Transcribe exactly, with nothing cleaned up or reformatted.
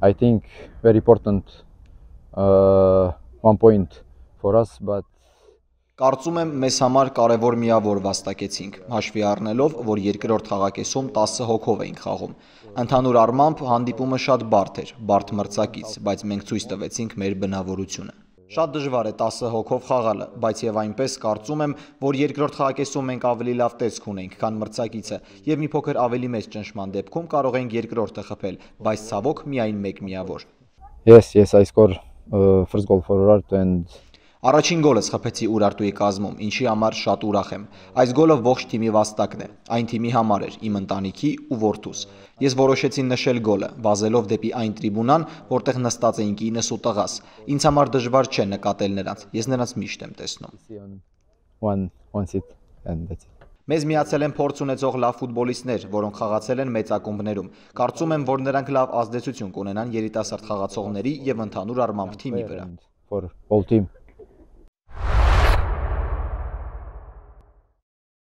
I think very important uh, one point for us, but Կարծում եմ մեզ համար կարևոր միավոր վաստակեցինք, հաշվի առնելով, որ երկրորդ խաղակեսում տասը հոգով էինք խաղում։ Ընդհանուր առմամբ հանդիպումը շատ բարդ էր, բարդ մրցակից, բայց մենք ցույց տվեցինք մեր բնավորությունը։ Շատ դժվար է տասը հոգով խաղալը, բայց եւ այնպես կարծում եմ, որ երկրորդ խաղակեսում մենք ավելի լավ տեսք ունենք, քան մրցակիցը, եւ մի փոքր ավելի մեծ ճնշման դեպքում կարող ենք երկրորդը խփել, բայց ցավոք միայն մեկ միավոր։ Yes, yes, I score uh, first goal for Urartu and Առաջին գոլս խփեցի Ուրարտուի կազմում, ինչի համար շատ ուրախ եմ։ Այս գոլը ողջ թիմի վաստակն է, այն թիմի համար էր, իմ ընտանիքի ու որդուս։ Ես որոշեցի նշել գոլը, վազելով դեպի այն տրիբունան, որտեղ նստած էին կինս ու տղաս։ Ինձ համար դժվար չէ նկատել նրանց, ես նրանց միշտ եմ տեսնում։ one one seat and that's it. Մեզ միացել են փորձ ունեցող լավ ֆուտբոլիստներ, որոնք խաղացել են մեծ ակումբներում։ Կարծում եմ, որ նրանք լավ ազդեցություն կունենան երիտասարդ խաղացողների եւ ընդհանուր առմամբ թիմի վրա։ For all team.